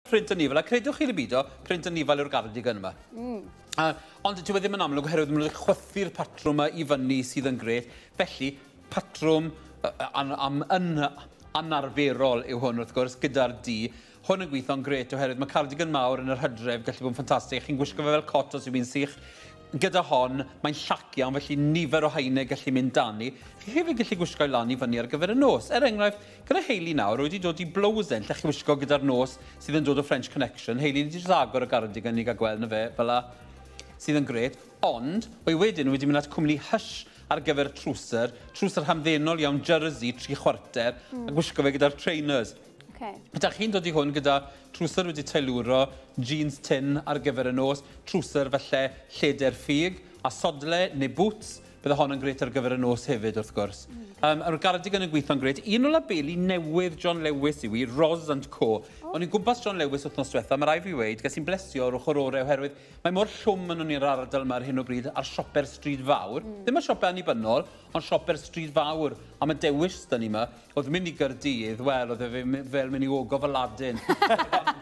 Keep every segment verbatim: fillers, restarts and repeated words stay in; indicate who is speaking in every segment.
Speaker 1: Print anifail, a credwch chi neu beidio, print anifail yw'r gardigan yma. Mm. Uh, ond dyw e ddim yn amlwg oherwydd maen nhw wedi chwythu'r patrwm yma i fyny sydd yn grêt. Felly, patrwm uh, an, am, yn anarferol yw hwn wrth gwrs, gyda'r du. Hwn yn gweithio'n grêt oherwydd mae cardigan mawr yn yr hydref gallu bod yn ffantastig. Chi'n gwisgo fe fel cot os yw'n sych. Gyda hon, mae'n llac iawn, felly nifer o haenau gallu mynd dani. Chi hefyd gallu gwisgo i lan i fyny ar gyfer y nos. Er enghraifft, gyda Hayley nawr, wedi dod i blowsen lle chi wisgo gyda'r nos sydd yn dod o French Connection. Hayley wedi jyst agor y gardigan i gael gweld na fe, fel la, sydd yn grêt. Ond, o'i wedyn wedi mynd at cwmni Hush ar gyfer trwser, trwser hamddenol iawn, jersey, tri chwarter, mm. a gwisgo fe gyda'r trainers.
Speaker 2: Okay.
Speaker 1: Ydych chi'n dod i hwn gyda trwser wedi teilwro, jeans tynn ar gyfer y nos, trwser falle lleder ffug, a sodle neu boots, bydde hon yn grêt ar gyfer y nos hefyd wrth gwrs. Mm. Um, Yr gardigan yn gweithio'n grêt. Un o labeli newydd John Lewis yw i, Roz and Co. Oh. O'n i'n gwmpas John Lewis wythnos diwetha, mae rai fi weud, ges i'n blesio o'r ochr orau oherwydd mae mor llwm yn i'r ardal yma ar hyn o bryd ar siope'r stryd fawr. Mm. Ddim y siopau annibynnol, ond siope'r stryd fawr. A mae dewis dyn ni yma, oedd mynd i Gaerdydd, wel, oedd e fel mynd i ogof Aladdin.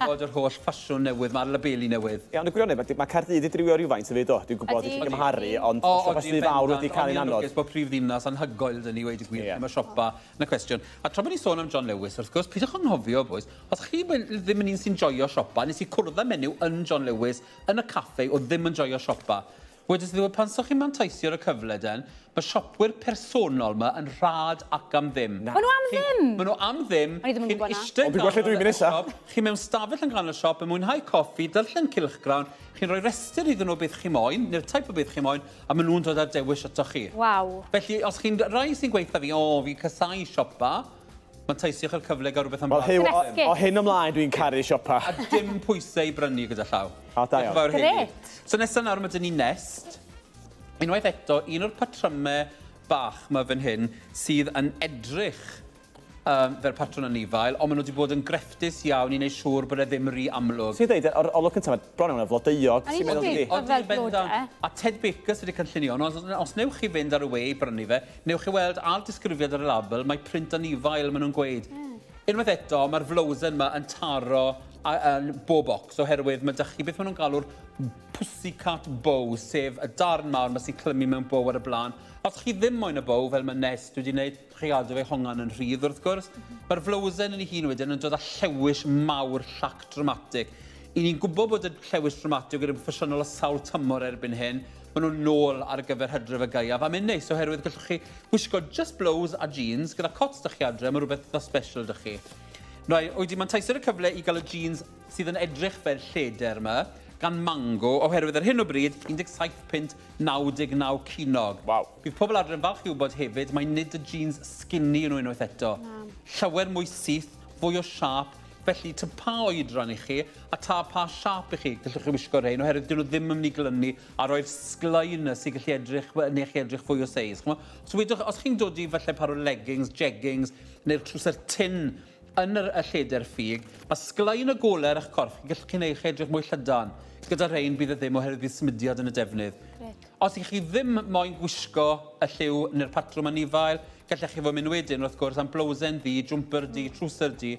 Speaker 1: Bod yr holl ffasiwn newydd, mae'r labeli newydd.
Speaker 3: Ie, ond y gwirionedd, mae Caerdydd wedi drywio rhywfaint hefyd, do. Dwi'n gwybod, dwi'n gymharu, ond
Speaker 1: O,
Speaker 3: siopa stryd fawr wedi cael ein anodd.
Speaker 1: Ond bod prif ddinas anhygoel dyn ni, weud y gwir,
Speaker 3: Ie.
Speaker 1: ddim y siopa yn y cwestiwn. A tra bod ni'n sôn am John Lewis, wrth gwrs, peidiwch anghofio, boys, os chi ddim yn un sy'n joio siopa, nes i cwrdd â menyw yn John Lewis yn y caffe oedd ddim yn joio siopa. Wedys iddi, pan sa'ch chi'n manteisio ar y cyfle den, mae siopwyr personol yma yn rhad ac am ddim.
Speaker 2: Ma' nhw am ddim?
Speaker 1: Maen nhw am ddim.
Speaker 2: O'n i ddim yn
Speaker 1: Chi'n
Speaker 2: gwybod 'na.
Speaker 1: eistedd
Speaker 3: Ond dwi'n gweld lle dwi'n mynd
Speaker 1: ganol y
Speaker 3: nesa.
Speaker 1: siop, chi mewn stafell yn ganol y siop yn mwynhau coffi, darllen cylchgrawn, chi'n rhoi rhestr iddyn nhw beth chi moyn, neu'r type o beth chi moyn, a maen nhw'n dod â'r dewis ato chi.
Speaker 2: Waw.
Speaker 1: Felly, os chi'n rai sy'n gweithio fi, o, fi casau siopa, manteisiwch ar cyfle gael rhywbeth am
Speaker 3: Wel, Huw, o,
Speaker 2: Gresgu.
Speaker 3: o hyn ymlaen dwi'n caru siopa.
Speaker 1: A dim pwysau i brynu gyda llaw.
Speaker 3: O, da iawn.
Speaker 1: Diolch yn fawr, Hayley.
Speaker 2: Grêt.
Speaker 1: So nesaf nawr mae dyn ni Nest. Unwaith eto, un o'r patrymau bach yma fan hyn sydd yn edrych um, fel patrwn anifail, ond maen nhw wedi bod yn grefftus iawn i wneud siŵr bod e ddim rhy amlwg.
Speaker 3: Ti'n dweud, o'r olwg cyntaf, mae bron iawn yn flodeuog.
Speaker 2: O'n i'n
Speaker 3: Ti'n meddwl,
Speaker 2: dweud-
Speaker 3: dydi?
Speaker 2: Ond fel
Speaker 1: Odi, bendant.
Speaker 2: blodau.
Speaker 1: A Ted Baker sydd wedi cynllunio, ond os, os newch chi fynd ar y we i brynu fe, newch chi weld ar disgrifiad ar y label, mae print anifail maen nhw'n gweud. Mm. Unwaith eto, mae'r flowsen yma yn taro a, a, bob bocs oherwydd mae dych chi beth maen nhw'n galw'r pussycat bow, sef y darn mawr yma sy'n clymu mewn bow ar y blaen. Os chi ddim moyn y bow, fel mae Nest wedi wneud, chi gadw fe hongan yn rhydd wrth gwrs. Mae'r flowsen yn ei hun wedyn yn dod â llewis mawr llac dramatig. I ni'n gwybod bod y llewis dramatig yn ffasiynol o sawl tymor erbyn hyn. Maen nhw'n nôl ar gyfer hydref y gaeaf. A mae'n neis oherwydd gallwch chi wisgo just blouse a jeans gyda cots dych chi adre, mae rhywbeth eitha special dych chi. Rai, wedi manteisio ar y cyfle i gael y jeans sydd yn edrych fel lleder yma, gan Mango, oherwydd ar hyn o bryd, un deg saith punt naw deg naw ceiniog.
Speaker 3: Waw.
Speaker 1: Bydd pobl adre yn falch i wybod hefyd, mae nid y jeans skinny yn nhw unwaith eto. Llawer mwy syth, fwy o siâp, felly ta pa oedran i chi a ta pa siâp i chi gallwch chi wisgo rhein, oherwydd dyn nhw ddim yn mynd i glynu a roi'r sglein yna sy'n gallu edrych, neu chi edrych fwy o seis. Ch'mo'? So wedwch, os chi'n dod i falle par o leggings, jeggings, neu'r trwser tynn yn yr, y lleder ffug, mae sglein y golau ar eich corff, chi'n gallu chi wneud chi edrych mwy llydan. Gyda rhein bydd e ddim oherwydd bydd symudiad yn y defnydd.
Speaker 2: Grêt.
Speaker 1: Os ych chi ddim moyn gwisgo y lliw neu'r patrwm anifail, gallech chi fod mynd wedyn wrth gwrs am blowsen ddu, jumper du, trwser du,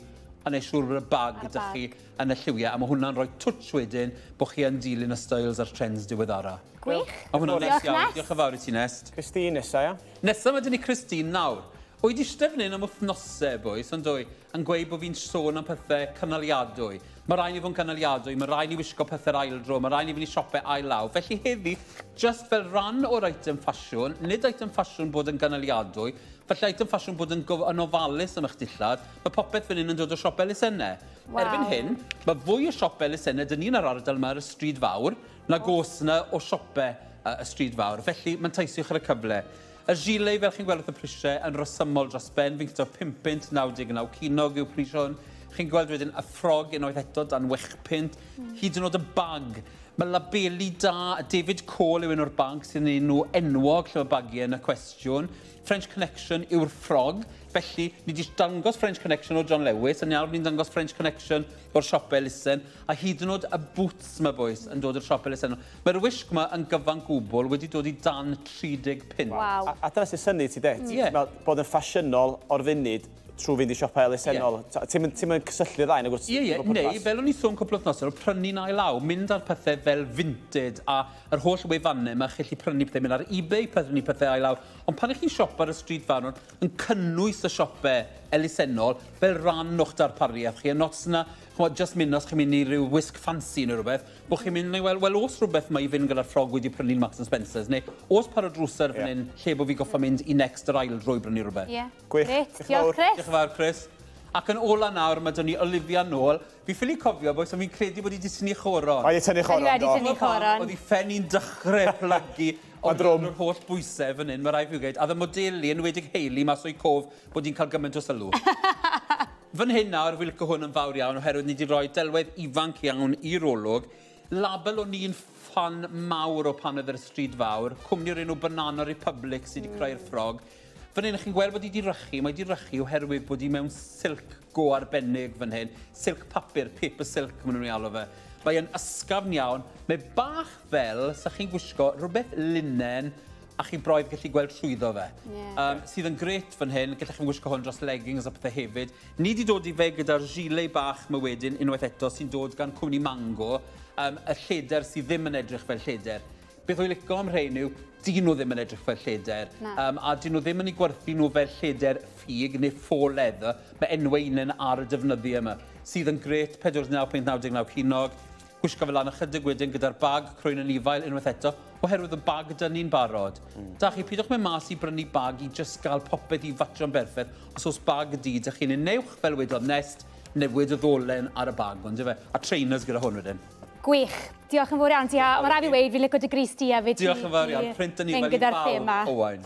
Speaker 1: a neud siŵr bod y bag
Speaker 2: A'r
Speaker 1: gyda
Speaker 2: bag.
Speaker 1: chi yn y lliwiau, a mae hwnna'n rhoi twtsh wedyn bod chi yn dilyn y styles a'r trends diweddara.
Speaker 2: Gwych.
Speaker 1: A hwnna'n neis
Speaker 2: Diolch,
Speaker 1: iawn.
Speaker 2: Nest.
Speaker 1: Diolch yn fawr i ti, Nest.
Speaker 3: Christine nesa, ia?
Speaker 1: Nesa mae dyn ni Christine nawr. Wy di eistedd fan hyn am wythnosau, boys, ond dwy, yn gweud bod fi'n sôn am pethau cynaliadwy. Mae rhaid ni fod yn cynaliadwy, mae rhaid ni wisgo pethau'r ail dro, mae rhaid ni fynd i siopau ail law. Felly heddi, just fel rhan o'r eitem ffasiwn, nid eitem ffasiwn bod yn gynaliadwy, felly eitem ffasiwn bod yn, gof- yn ofalus am eich dillad, mae popeth fan hyn yn dod o siop elusennau.
Speaker 2: Waw.
Speaker 1: Erbyn hyn, mae fwy o siopau elusennau dyn ni'n ar ardal yma ar y stryd fawr, nag oes yna o siopau uh, y stryd fawr. Felly, manteisiwch ar y cyfle. Y gilet, fel chi'n gweld wrth y prisiau, yn resymol dros ben. Fi'n cyto pum punt naw deg naw ceiniog yw pris hwn. Chi'n gweld wedyn y ffrog unwaith eto dan wech punt. Hyd yn oed y bag. Mae labeli da, David Cole yw un o'r banc sy'n enw enwog lle mae bagiau yn y cwestiwn. French Connection yw'r ffrog. Felly, ni wedi dangos French Connection o John Lewis, a nawr ni'n dangos French Connection o'r siop elusen, a hyd yn oed y boots yma, boys, yn dod o'r siop elusen. Mae'r wisg yma yn gyfan gwbl wedi dod i dan tri deg punt.
Speaker 2: Waw.
Speaker 3: A, a dyna sy'n synnu ti, de?
Speaker 1: Ie.
Speaker 3: Fel bod yn ffasiynol o'r funud, trwy fynd i siopau elusennol. Yeah. Ti'n mynd cysylltu ddau, nag wyt?
Speaker 1: Ie, ie, neu, fel o'n i sôn cwpl o wythnosau, prynu'n ail law, mynd ar pethau fel Vinted a yr holl wefannau yma, chi'n gallu prynu pethau, mynd ar eBay prynu pethau ail law. Ond pan ych chi'n siopa ar y stryd fawr, yn cynnwys y siopau elusennol fel rhan o'ch darpariaeth chi. A not yna, ch'mod, just mynd os chi'n mynd i ryw wisg ffansi neu rhywbeth, bod chi'n mynd, wel, wel, oes rhywbeth mae i fynd gyda'r ffrog wedi prynu'n Marks and Spencer's, neu oes par o drwser fan hyn, lle bod fi goffa mynd i Next yr ail dro i brynu rhywbeth.
Speaker 2: Ie.
Speaker 3: Gwych.
Speaker 2: Grêt.
Speaker 3: Diolch yn
Speaker 2: Diolch,
Speaker 3: fawr.
Speaker 2: Chris.
Speaker 1: Diolch yn fawr, Chris. Ac yn ola nawr, mae dyn ni Olivia nôl. Fi ffili cofio, bois, ond fi'n credu bod hi wedi tynnu choron.
Speaker 3: Mae wedi tynnu choron,
Speaker 2: Mae wedi
Speaker 3: do.
Speaker 2: tynnu choron.
Speaker 1: Oedd hi ffen i'n dechrau plygu.
Speaker 3: Mae'n drwm.
Speaker 1: Yr holl bwysau fan hyn, mae rhaid fi gweud. A ddy modelu, yn enwedig Hayley, mas o'i cof bod hi'n cael gymaint o sylw. Fan hyn nawr, fi'n licio hwn yn fawr iawn, oherwydd ni wedi rhoi delwedd ifanc iawn i'r olwg. Label o'n i'n ffan mawr o pan oedd ar y stryd fawr. Cwmni o'r enw Banana Republic sydd wedi creu'r ffrog. Fan hyn, chi'n gweld bod hi wedi rychu. Mae wedi rychu oherwydd bod hi mewn silk go arbennig fan hyn. Silk papur, paper silk, maen nhw'n ei alw fe. Mae yn ysgafn iawn. Mae bach fel, sa chi'n gwisgo rhywbeth linen a chi broedd gallu gweld trwyddo fe.
Speaker 2: Ie.
Speaker 1: Um, sydd yn grêt fan hyn, gallech chi'n gwisgo hwn dros leggings a pethau hefyd. Ni wedi dod i fe gyda'r gilet bach yma wedyn, unwaith eto, sy'n dod gan cwmni Mango, um, y lleder sydd ddim yn edrych fel lleder. Beth o'i licio am rhain yw, dyn nhw ddim yn edrych fel lleder.
Speaker 2: Na.
Speaker 1: Um, a dyn nhw ddim yn ei gwerthu nhw fel lleder ffug neu faux leather. Mae enwau unan ar y defnyddiau yma, sydd yn grêt, pedwar naw pwynt naw deg naw ceiniog. Gwisgo fel lan ychydig wedyn gyda'r bag croen anifail unwaith eto, oherwydd y bag dyn ni'n barod. Mm. Da chi, pidwch mynd mas i brynu bag i just gael popeth i fatio'n berffaith. Os oes bag di, da chi'n newch fel wedodd Nest, newid y ddolen ar y bag, ond fe. A trainers gyda hwn wedyn.
Speaker 2: Gwych. Diolch yn fawr iawn ti. A mae rhaid fi weud, fi'n licio dy grys di hefyd.
Speaker 1: Diolch yn fawr iawn. Print anifail i
Speaker 2: gyda'r
Speaker 1: bawb,
Speaker 2: thema.
Speaker 1: Owain.